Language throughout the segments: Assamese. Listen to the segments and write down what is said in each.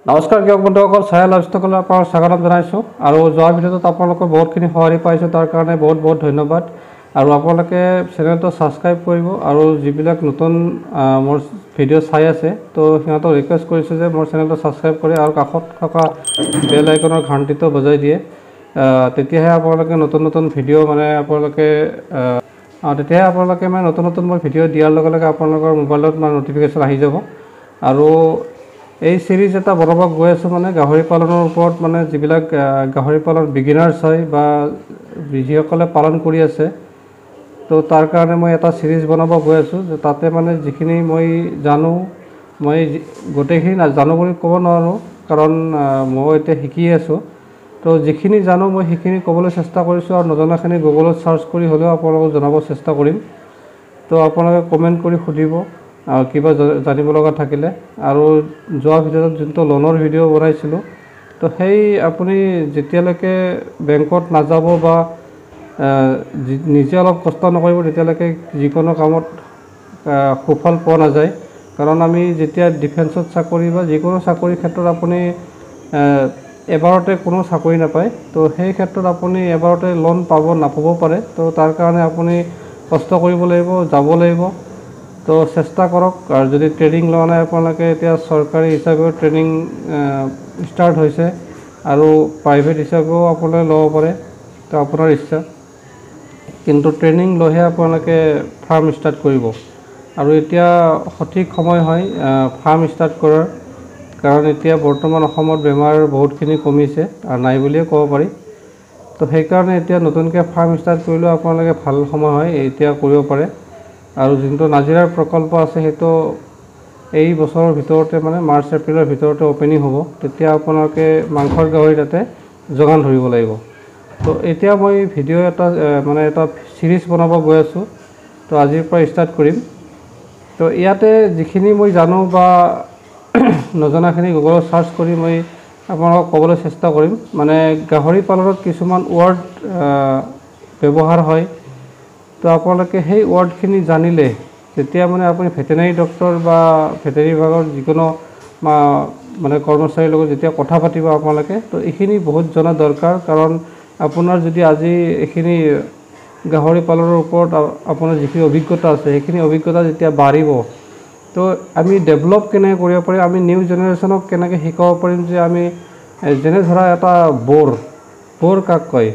নমস্কাৰ কৃষক বন্ধুসকল, ছায়া লাইভষ্টকলৈ আপোনালোক স্বাগতম জনাইছোঁ। আৰু যোৱা ভিডিঅ'টোত আপোনালোকৰ বহুতখিনি সঁহাৰি পাইছোঁ, তাৰ কাৰণে বহুত বহুত ধন্যবাদ। আৰু আপোনালোকে চেনেলটো ছাবস্ক্ৰাইব কৰিব আৰু যিবিলাক নতুন মোৰ ভিডিঅ' চাই আছে, তো সিহঁতক ৰিকুৱেষ্ট কৰিছোঁ যে মোৰ চেনেলটো ছাবস্ক্ৰাইব কৰে আৰু কাষত থকা বেল আইকনৰ ঘণ্টিটো বজাই দিয়ে। তেতিয়াহে আপোনালোকে নতুন নতুন ভিডিঅ' মানে আপোনালোকে তেতিয়াহে আপোনালোকে মানে নতুন নতুন মই ভিডিঅ' দিয়াৰ লগে লগে আপোনালোকৰ মোবাইলত মানে ন'টিফিকেশ্যন আহি যাব। আৰু এই চিৰিজ এটা বনাব গৈ আছোঁ, মানে গাহৰি পালনৰ ওপৰত, মানে যিবিলাক গাহৰি পালন বিগিনাৰ্ছ হয় বা যিসকলে পালন কৰি আছে, তো তাৰ কাৰণে মই এটা চিৰিজ বনাব গৈ আছোঁ যে তাতে মানে যিখিনি মই জানো, মই গোটেইখিনি জানো বুলি ক'ব নোৱাৰোঁ, কাৰণ মই এতিয়া শিকি আছোঁ। তো যিখিনি জানো মই সেইখিনি ক'বলৈ চেষ্টা কৰিছোঁ আৰু নজনাখিনি গুগলত চাৰ্চ কৰি হ'লেও আপোনালোকক জনাব চেষ্টা কৰিম। তো আপোনালোকে কমেণ্ট কৰি সুধিব কিবা জানিব লগা থাকিলে। আৰু যোৱা ভিডিঅ'ত যোনটো লোনৰ ভিডিঅ' বনাইছিলোঁ, তো সেই আপুনি যেতিয়ালৈকে বেংকত নাযাব বা নিজে অলপ কষ্ট নকৰিব, তেতিয়ালৈকে যিকোনো কামত সুফল পোৱা নাযায়। কাৰণ আমি যেতিয়া ডিফেন্সত চাকৰি বা যিকোনো চাকৰিৰ ক্ষেত্ৰত আপুনি এবাৰতে কোনো চাকৰি নাপায়, তো সেই ক্ষেত্ৰত আপুনি এবাৰতে লোন পাব নাপাব পাৰে। তো তাৰ কাৰণে আপুনি কষ্ট কৰিব লাগিব, যাব লাগিব। তো চেষ্টা কৰক। আৰু যদি ট্ৰেইনিং লোৱা নাই আপোনালোকে, এতিয়া চৰকাৰী হিচাপেও ট্ৰেইনিং ষ্টাৰ্ট হৈছে আৰু প্ৰাইভেট হিচাপেও আপোনালোকে ল'ব পাৰে, তো আপোনাৰ ইচ্ছা। কিন্তু ট্ৰেইনিং লৈহে আপোনালোকে ফাৰ্ম ষ্টাৰ্ট কৰিব। আৰু এতিয়া সঠিক সময় হয় ফাৰ্ম ষ্টাৰ্ট কৰাৰ, কাৰণ এতিয়া বৰ্তমান অসমত বেমাৰ বহুতখিনি কমিছে আৰু নাই বুলিয়ে ক'ব পাৰি। তো সেইকাৰণে এতিয়া নতুনকৈ ফাৰ্ম ষ্টাৰ্ট কৰিলেও আপোনালোকে ভাল সময় হয়, এতিয়া কৰিব পাৰে। আৰু যোনটো নাজিৰাৰ প্ৰকল্প আছে, সেইটো এই বছৰৰ ভিতৰতে মানে মাৰ্চ এপ্ৰিলৰ ভিতৰতে অ'পেনিং হ'ব। তেতিয়া আপোনালোকে মাংসৰ গাহৰি তাতে যোগান ধৰিব লাগিব। তো এতিয়া মই ভিডিঅ' এটা মানে এটা চিৰিজ বনাব গৈ আছোঁ, তো আজিৰ পৰা ষ্টাৰ্ট কৰিম। তো ইয়াতে যিখিনি মই জানো বা নজনাখিনি গুগলত চাৰ্চ কৰি মই আপোনালোকক ক'বলৈ চেষ্টা কৰিম। মানে গাহৰি পালনত কিছুমান ৱৰ্ড ব্যৱহাৰ হয়, তো আপোনালোকে সেই ৱৰ্ডখিনি জানিলে তেতিয়া মানে আপুনি ভেটেনাৰী ডক্টৰ বা ভেটেনাৰী বিভাগৰ যিকোনো মানে কৰ্মচাৰীৰ লগত যেতিয়া কথা পাতিব আপোনালোকে, তো এইখিনি বহুত জনা দৰকাৰ। কাৰণ আপোনাৰ যদি আজি এইখিনি গাহৰি পালনৰ ওপৰত আপোনাৰ যিখিনি অভিজ্ঞতা আছে, সেইখিনি অভিজ্ঞতা যেতিয়া বাঢ়িব, তো আমি ডেভেলপ কেনেকৈ কৰিব পাৰিম, আমি নিউ জেনেৰেশ্যনক কেনেকৈ শিকাব পাৰিম যে আমি যেনে ধৰা এটা বৰ কাক কয়,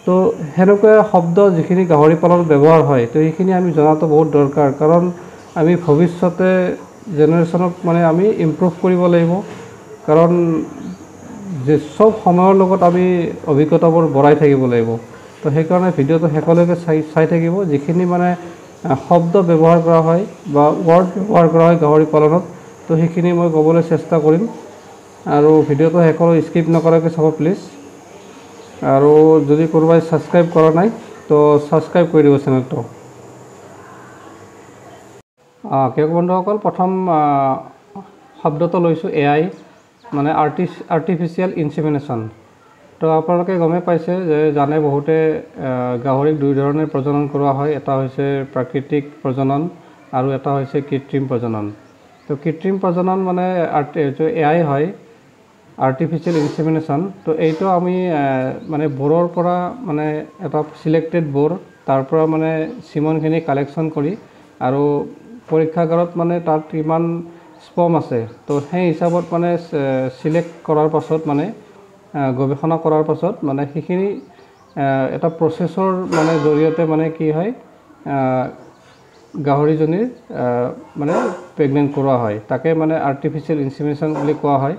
তো সেনেকুৱা শব্দ যিখিনি গাহৰি পালনত ব্যৱহাৰ হয়, তো সেইখিনি আমি জনাটো বহুত দৰকাৰ। কাৰণ আমি ভৱিষ্যতে জেনেৰেশ্যনক মানে আমি ইম্প্ৰুভ কৰিব লাগিব, কাৰণ যে চব সময়ৰ লগত আমি অভিজ্ঞতাবোৰ বঢ়াই থাকিব লাগিব। তো সেইকাৰণে ভিডিঅ'টো শেষলৈকে চাই চাই থাকিব। যিখিনি মানে শব্দ ব্যৱহাৰ কৰা হয় বা ৱৰ্ড ব্যৱহাৰ কৰা হয় গাহৰি পালনত, তো সেইখিনি মই ক'বলৈ চেষ্টা কৰিম। আৰু ভিডিঅ'টো শেষলৈ স্কিপ নকৰাকৈ চাব প্লিজ। আৰু যদি কোনোবাই ছাবস্ক্ৰাইব কৰা নাই, তো ছাবস্ক্ৰাইব কৰি দিব চেনেলটো। কৃষক বন্ধুসকল, প্ৰথম শব্দটো লৈছোঁ এ I, মানে আৰ্টিফিচিয়েল ইনচেমিনেশ্যন। তো আপোনালোকে গমেই পাইছে যে জানে বহুতে, গাহৰিক দুই ধৰণে প্ৰজনন কৰোৱা হয়। এটা হৈছে প্ৰাকৃতিক প্ৰজনন আৰু এটা হৈছে কৃত্ৰিম প্ৰজনন। তো কৃত্ৰিম প্ৰজনন মানে এ I হয়, আৰ্টিফিচিয়েল ইনচেমিনেশ্যন। তো এইটো আমি মানে বোৰৰ পৰা মানে এটা চিলেক্টেড বোৰ, তাৰ পৰা মানে চিমনখিনি কালেকশ্যন কৰি আৰু পৰীক্ষাগাৰত মানে তাত কিমান স্পম আছে, তো সেই হিচাপত মানে চিলেক্ট কৰাৰ পাছত, মানে গৱেষণা কৰাৰ পাছত, মানে সেইখিনি এটা প্ৰচেছৰ মানে জৰিয়তে মানে কি হয়, গাহৰিজনীৰ মানে প্ৰেগনেণ্ট কৰোৱা হয়। তাকে মানে আৰ্টিফিচিয়েল ইনচেমিনেশ্যন বুলি কোৱা হয়।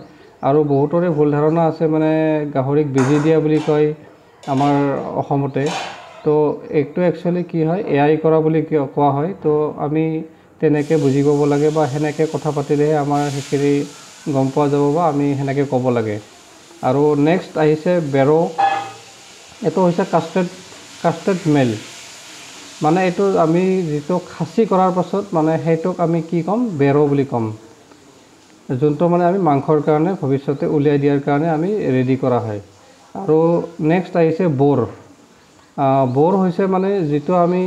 আৰু বহুতৰে ভুল ধাৰণা আছে, মানে গাহৰিক বেজী দিয়া বুলি কয় আমাৰ অসমতে। তো এইটো একচুৱেলি কি হয়, এ I কৰা বুলি কোৱা হয়। তো আমি তেনেকৈ বুজি পাব লাগে বা সেনেকৈ কথা পাতিলেহে আমাৰ সেইখিনি গম পোৱা যাব বা আমি সেনেকৈ ক'ব লাগে। আৰু নেক্সট আহিছে বেৰ'। এইটো হৈছে কাষ্টেড মেল, মানে এইটো আমি যিটো খাচী কৰাৰ পাছত মানে সেইটোক আমি কি ক'ম, বেৰ' বুলি ক'ম, যোনটো মানে আমি মাংসৰ কাৰণে ভৱিষ্যতে উলিয়াই দিয়াৰ কাৰণে আমি ৰেডি কৰা হয়। আৰু নেক্সট আহিছে বৰ। বৰ হৈছে মানে যিটো আমি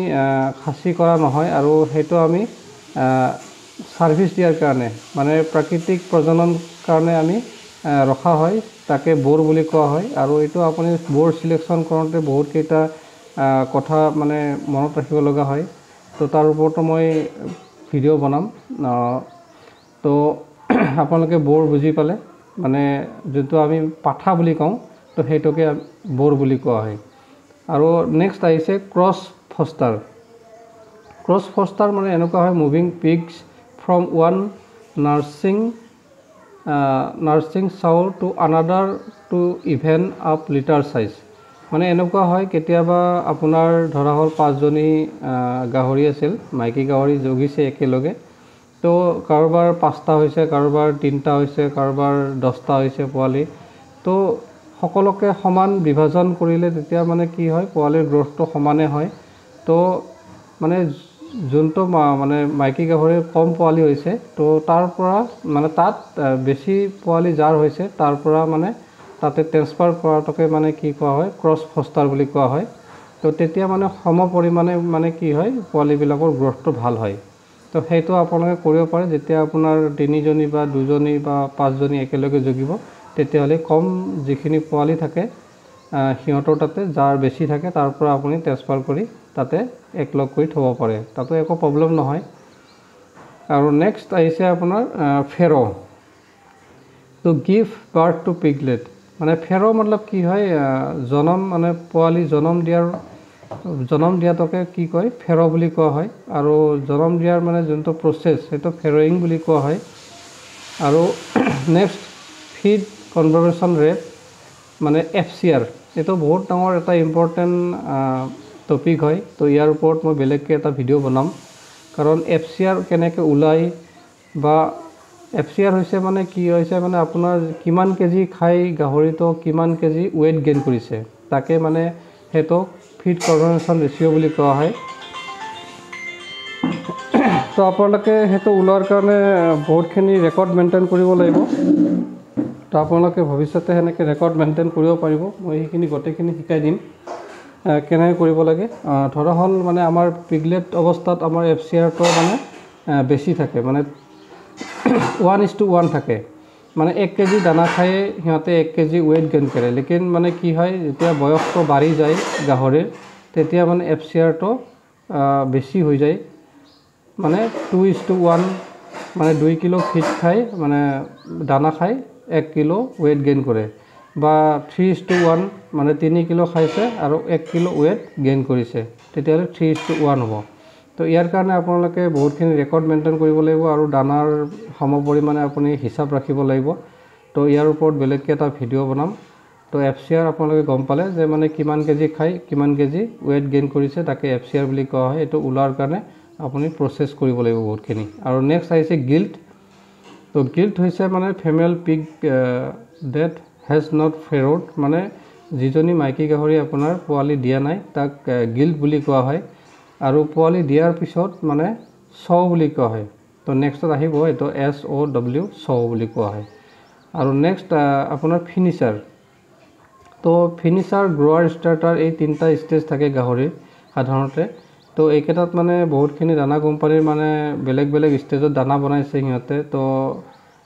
খাচী কৰা নহয় আৰু সেইটো আমি ছাৰ্ভিচ দিয়াৰ কাৰণে, মানে প্ৰাকৃতিক প্ৰজনন কাৰণে আমি ৰখা হয় তাকে বোৰ বুলি কোৱা হয়। আৰু এইটো আপুনি বোৰ চিলেকশ্যন কৰোঁতে বহুতকেইটা কথা মানে মনত ৰাখিব লগা হয়, তো তাৰ ওপৰতো মই ভিডিঅ' বনাম। তো আপোনালোকে বোৰ বুজি পালে, মানে যোনটো আমি পাঠা বুলি কওঁ তো সেইটোকে বোৰ বুলি কোৱা হয়। আৰু নেক্সট আহিছে ক্ৰছ ফষ্টাৰ। ক্ৰছ ফষ্টাৰ মানে এনেকুৱা হয়, moving pigs from one nursing sow to another to even up litter size. মানে এনেকুৱা হয়, কেতিয়াবা আপোনাৰ ধৰা হ'ল 5জনী গাহৰি আছিল, মাইকী গাহৰি জগিছে একেলগে, তো কাৰোবাৰ 5টা হৈছে, কাৰোবাৰ 3টা হৈছে, কাৰোবাৰ 10টা হৈছে পোৱালি। তো সকলোকে সমান বিভাজন কৰিলে তেতিয়া মানে কি হয়, পোৱালিৰ গ্ৰ'থটো সমানে হয়। তো মানে যোনটো মানে মাইকী গাহৰিৰ কম পোৱালি হৈছে, তো তাৰ পৰা মানে তাত বেছি পোৱালি যাৰ হৈছে তাৰ পৰা মানে তাতে ট্ৰেন্সফাৰ কৰাটোকে মানে কি কোৱা হয়, ক্ৰছ ফষ্টাৰ বুলি কোৱা হয়। তো তেতিয়া মানে সম পৰিমাণে মানে কি হয়, পোৱালিবিলাকৰ গ্ৰ'থটো ভাল হয়। তো সেইটো আপোনালোকে কৰিব পাৰে। যেতিয়া আপোনাৰ 3জনী বা 2জনী বা 5জনী একেলগে জগিব, তেতিয়াহ'লে কম যিখিনি পোৱালি থাকে সিহঁতৰ তাতে যাৰ বেছি থাকে তাৰ পৰা আপুনি ট্ৰেন্সফাৰ কৰি তাতে একলগ কৰি থ'ব পাৰে, তাতো একো প্ৰব্লেম নহয়। আৰু নেক্সট আহিছে আপোনাৰ farrow, to give birth to piglet. মানে ফেৰ' মতলব কি হয়, জনম মানে পোৱালি জনম দিয়াটোকে কি কয়, ফেৰ' বুলি কোৱা হয়। আৰু জনম দিয়াৰ মানে যোনটো প্ৰচেছ সেইটো ফেৰয়িং বুলি কোৱা হয়। আৰু নেক্সট ফিড কনভাৰ্চন ৰেট মানে FCR, এইটো বহুত ডাঙৰ এটা ইম্পৰ্টেণ্ট টপিক হয়। তো ইয়াৰ ওপৰত মই বেলেগকৈ এটা ভিডিঅ' বনাম, কাৰণ FCR কেনেকৈ ওলায় বা FCR হৈছে মানে কি হৈছে, মানে আপোনাৰ কিমান কেজি খাই গাহৰিটো কিমান কেজি ৱেইট গেইন কৰিছে, তাকে মানে সেইটো ফিড কনভাৰ্চন ৰেচিঅ' বুলি কোৱা হয়। তো আপোনালোকে সেইটো ওলোৱাৰ কাৰণে বহুতখিনি ৰেকৰ্ড মেইনটেইন কৰিব লাগিব। তো আপোনালোকে ভৱিষ্যতে সেনেকৈ ৰেকৰ্ড মেইনটেইন কৰিব পাৰিব। মই সেইখিনি গোটেইখিনি শিকাই দিম কেনেকৈ কৰিব লাগে। ধৰা হ'ল মানে আমাৰ পিগলেট অৱস্থাত আমাৰ FCRটো মানে বেছি থাকে, মানে 1:1 থাকে, মানে 1 কেজি দানা খায়ে সিহঁতে 1 কেজি ৱেইট গেইন কৰে। লেকিন মানে কি হয়, যেতিয়া বয়সটো বাঢ়ি যায় গাহৰিৰ, তেতিয়া মানে FCRটো বেছি হৈ যায়, মানে 2:1, মানে 2 কিলো ফিড খাই মানে দানা খাই 1 কিলো ৱেইট গেইন কৰে, বা 3:1, মানে 3 কিলো খাইছে আৰু 1 কিলো ৱেইট গেইন কৰিছে, তেতিয়াহ'লে 3:1 হ'ব। তো ইয়াৰ কাৰণে আপোনালোকে বহুতখিনি ৰেকৰ্ড মেইনটেইন কৰিব লাগিব আৰু দানাৰ সম পৰিমাণে আপুনি হিচাপ ৰাখিব লাগিব। তো ইয়াৰ ওপৰত বেলেগকৈ এটা ভিডিঅ' বনাম। তো FCR আপোনালোকে গম পালে যে মানে কিমান কেজি খাই কিমান কেজি ৱেইট গেইন কৰিছে, তাকে FCR বুলি কোৱা হয়। এইটো ওলোৱাৰ কাৰণে আপুনি প্ৰচেছ কৰিব লাগিব বহুতখিনি। আৰু নেক্সট আহিছে গিল্ট। তো গিল্ট হৈছে মানে female pig that has not farrowed, মানে যিজনী মাইকী গাহৰি আপোনাৰ পোৱালি দিয়া নাই তাক গিল্ট বুলি কোৱা হয়। আৰু পোৱালি দিয়াৰ পিছত মানে চৌ বুলি কোৱা হয়। তো নেক্সটত আহিব এইটো SOW, চৌ বুলি কোৱা হয়। আৰু নেক্সট আপোনাৰ ফিনিচাৰ। তো ফিনিচাৰ, গ্ৰ'ৱাৰ, ষ্টাৰ্টাৰ এই 3টা ষ্টেজ থাকে গাহৰিৰ সাধাৰণতে। তো এইকেইটাত মানে বহুতখিনি দানা কোম্পানীৰ মানে বেলেগ বেলেগ ষ্টেজত দানা বনাইছে সিহঁতে। তো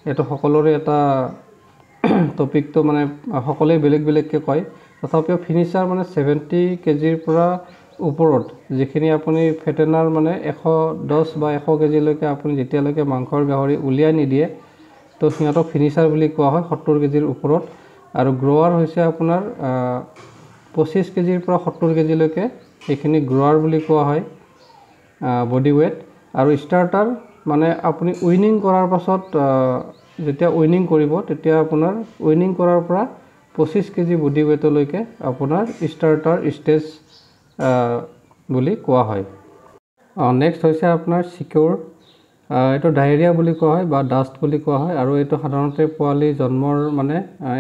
এইটো সকলোৰে এটা টপিকটো মানে সকলোৱে বেলেগ বেলেগকৈ কয়। তথাপিও ফিনিচাৰ মানে 70 কেজিৰ পৰা ওপৰত যিখিনি আপুনি ফেটেনাৰ মানে 110 বা 100 কেজিলৈকে আপুনি যেতিয়ালৈকে মাংসৰ গাহৰি উলিয়াই নিদিয়ে, তো সিহঁতক ফিনিচাৰ বুলি কোৱা হয়, 70 কেজিৰ ওপৰত। আৰু গ্ৰ'ৱাৰ হৈছে আপোনাৰ 25 কেজিৰ পৰা 70 কেজিলৈকে এইখিনি গ্ৰ'ৱাৰ বুলি কোৱা হয়, বডি ৱেইট। আৰু ষ্টাৰ্টাৰ মানে আপুনি উইনিং কৰাৰ পাছত যেতিয়া উইনিং কৰিব, তেতিয়া আপোনাৰ উইনিং কৰাৰ পৰা 25 কেজি বডি ৱেইটলৈকে আপোনাৰ ষ্টাৰ্টাৰ ষ্টেজ বুলি কোৱা হয়। নেক্সট হৈছে আপোনাৰ চিকিউৰ, এইটো ডায়েৰিয়া বুলি কোৱা হয় বা ডাষ্ট বুলি কোৱা হয়। আৰু এইটো সাধাৰণতে পোৱালি জন্মৰ মানে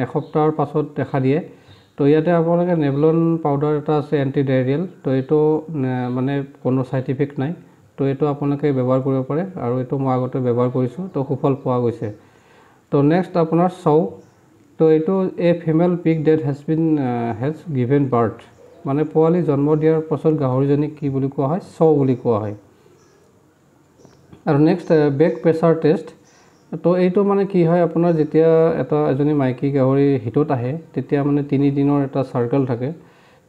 এসপ্তাহৰ পাছত দেখা দিয়ে। তো ইয়াতে আপোনালোকে নেভলন পাউডাৰ এটা আছে এণ্টি ডায়েৰিয়েল, তো এইটো মানে কোনো চাইড ইফেক্ট নাই, তো এইটো আপোনালোকে ব্যৱহাৰ কৰিব পাৰে। আৰু এইটো মই আগতে ব্যৱহাৰ কৰিছোঁ, তো সুফল পোৱা গৈছে। তো নেক্সট আপোনাৰ চৌ। তো এইটো a female pig that has given birth, মানে পোৱালি জন্ম দিয়াৰ পাছত গাহৰিজনীক কি বুলি কোৱা হয়, চৌ বুলি কোৱা হয়। আৰু নেক্সট বেক প্ৰেছাৰ টেষ্ট, তো এইটো মানে কি হয়, আপোনাৰ যেতিয়া এজনী মাইকী গাহৰি হিটত আহে তেতিয়া মানে 3 দিনৰ এটা চাৰ্কেল থাকে।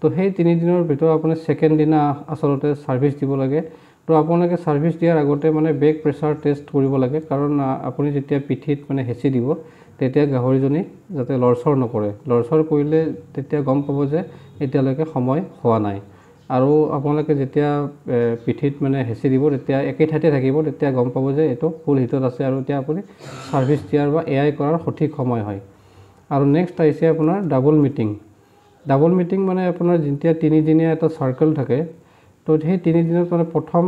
তো সেই 3 দিনৰ ভিতৰত আপুনি ছেকেণ্ড দিনা আচলতে ছাৰ্ভিচ দিব লাগে। তো আপোনালোকে ছাৰ্ভিচ দিয়াৰ আগতে মানে বেক প্ৰেছাৰ টেষ্ট কৰিব লাগে, কাৰণ আপুনি যেতিয়া পিঠিত মানে হেঁচি দিব তেতিয়া গাহৰিজনী যাতে লৰচৰ নকৰে। লৰচৰ কৰিলে তেতিয়া গম পাব যে এতিয়ালৈকে সময় হোৱা নাই। আৰু আপোনালোকে যেতিয়া পিঠিত মানে হেঁচি দিব তেতিয়া একে ঠাইতে থাকিব, তেতিয়া গম পাব যে এইটো ফুল হিটত আছে আৰু এতিয়া আপুনি ছাৰ্ভিচ দিয়াৰ বা এ I কৰাৰ সঠিক সময় হয়। আৰু নেক্সট আহিছে আপোনাৰ ডাবল মিটিং। ডাবল মিটিং মানে আপোনাৰ যেতিয়া 3 দিনীয়া এটা চাৰ্কেল থাকে, তো সেই 3 দিনত মানে প্ৰথম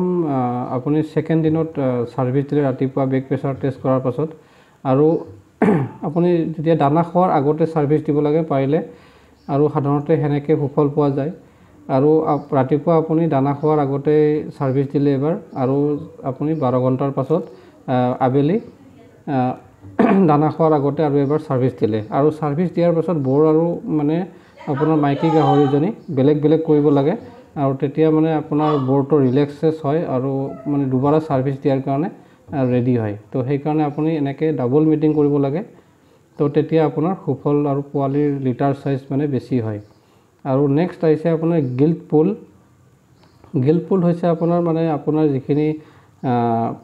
আপুনি ছেকেণ্ড দিনত ছাৰ্ভিচ দিলে ৰাতিপুৱা বেক প্ৰেছাৰ টেষ্ট কৰাৰ পাছত, আৰু আপুনি যেতিয়া দানা খোৱাৰ আগতে ছাৰ্ভিচ দিব লাগে পাৰিলে, আৰু সাধাৰণতে সেনেকৈ সুফল পোৱা যায়। আৰু ৰাতিপুৱা আপুনি দানা খোৱাৰ আগতে ছাৰ্ভিচ দিলে এবাৰ, আৰু আপুনি 12 ঘণ্টাৰ পাছত আবেলি দানা খোৱাৰ আগতে আৰু এবাৰ ছাৰ্ভিচ দিলে। আৰু ছাৰ্ভিচ দিয়াৰ পাছত বৰ আৰু মানে আপোনাৰ মাইকী গাহৰিজনী বেলেগ বেলেগ কৰিব লাগে, আৰু তেতিয়া মানে আপোনাৰ বৰটো ৰিলেক্সেছ হয় আৰু মানে দুবাৰ ছাৰ্ভিচ দিয়াৰ কাৰণে ৰেডি হয়। তো সেইকাৰণে আপুনি এনেকৈ ডাবল মিটিং কৰিব লাগে, তো তেতিয়া আপোনাৰ সুফল আৰু পোৱালিৰ লিটাৰ চাইজ মানে বেছি হয়। আৰু নেক্সট আহিছে আপোনাৰ গিল্ট পুল। গিল্ট পুল হৈছে আপোনাৰ মানে আপোনাৰ যিখিনি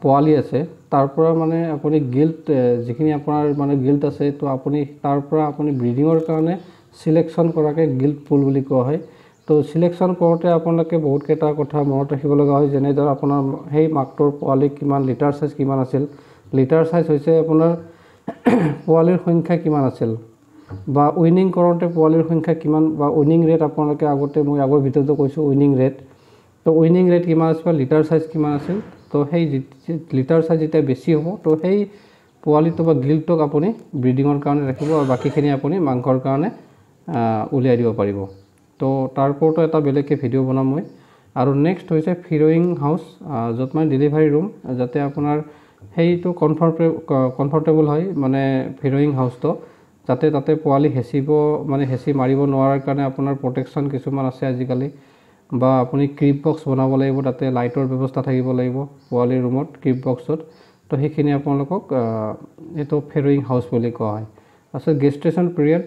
পোৱালি আছে তাৰ পৰা মানে আপুনি গিল্ট যিখিনি আপোনাৰ মানে গিল্ট আছে, তো আপুনি তাৰ পৰা আপুনি ব্ৰিডিঙৰ কাৰণে চিলেকশ্যন কৰাকে গিল্ট পুল বুলি কোৱা হয়। তো চিলেকশ্যন কৰোঁতে আপোনালোকে বহুতকেইটা কথা মনত ৰাখিব লগা হয়, যেনে ধৰক আপোনাৰ সেই মাকটোৰ পোৱালি কিমান লিটাৰ চাইজ কিমান আছিল, লিটাৰ চাইজ হৈছে আপোনাৰ পোৱালিৰ সংখ্যা কিমান আছিল, বা উইনিং কৰোঁতে পোৱালিৰ সংখ্যা কিমান, বা উইনিং ৰেট আপোনালোকে আগতে মই আগৰ ভিডিঅ'টো কৈছোঁ উইনিং ৰেট, তো উইনিং ৰেট কিমান আছিল বা লিটাৰ চাইজ কিমান আছিল। তো সেই লিটাৰ চাইজ যেতিয়া বেছি হ'ব তো সেই পোৱালিটো বা গিল্টটোক আপুনি ব্ৰিডিঙৰ কাৰণে ৰাখিব আৰু বাকীখিনি আপুনি মাংসৰ কাৰণে উলিয়াই দিব পাৰিব। তো তাৰ ওপৰতো এটা বেলেগকৈ ভিডিঅ' বনাম মই। আৰু নেক্সট হৈছে ফিৰয়িং হাউচ, য'ত মানে ডেলিভাৰী ৰুম, যাতে আপোনাৰ সেইটো কমফৰ্টেবল হয়, মানে ফিৰয়িং হাউচটো যাতে তাতে পোৱালি হেঁচিব মানে হেঁচি মাৰিব নোৱাৰাৰ কাৰণে আপোনাৰ প্ৰটেকশ্যন কিছুমান আছে আজিকালি, বা আপুনি ক্ৰিপ বক্স বনাব লাগিব, তাতে লাইটৰ ব্যৱস্থা থাকিব লাগিব পোৱালিৰ ৰুমত ক্ৰিপ বক্সত। তো সেইখিনি আপোনালোকক এইটো ফেৰয়িং হাউচ বুলি কোৱা হয়। তাৰপিছত গেষ্ট্ৰেশ্যন পিৰিয়ড,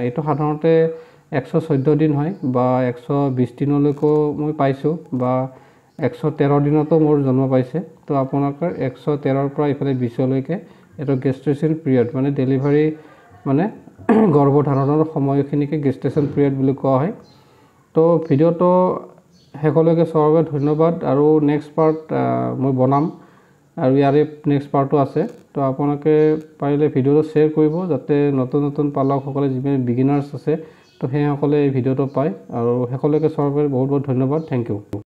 এইটো সাধাৰণতে 114 দিন হয় বা 120 দিনলৈকেও মই পাইছোঁ, বা 113 দিনতো মোৰ জন্ম পাইছে। তো আপোনালোকৰ 113ৰ পৰা ইফালে 20লৈকে এইটো গেষ্ট্ৰেশ্যন পিৰিয়ড মানে ডেলিভাৰী মানে গৰ্ভধাৰণৰ সময়খিনিকে গেষ্ট্ৰেশ্যন পিৰিয়ড বুলি কোৱা হয়। তো ভিডিঅ'টো শেষলৈকে চোৱাৰ বাবে ধন্যবাদ, আৰু নেক্সট পাৰ্ট মই বনাম আৰু ইয়াৰে নেক্সট পাৰ্টো আছে। তো আপোনালোকে পাৰিলে ভিডিঅ'টো শ্বেয়াৰ কৰিব, যাতে নতুন নতুন পালকসকলে যিমান বিগিনাৰ্ছ আছে তো সেইসকলে এই ভিডিঅ'টো পায়। আৰু শেষলৈকে চোৱাৰ বাবে বহুত বহুত ধন্যবাদ, thank U.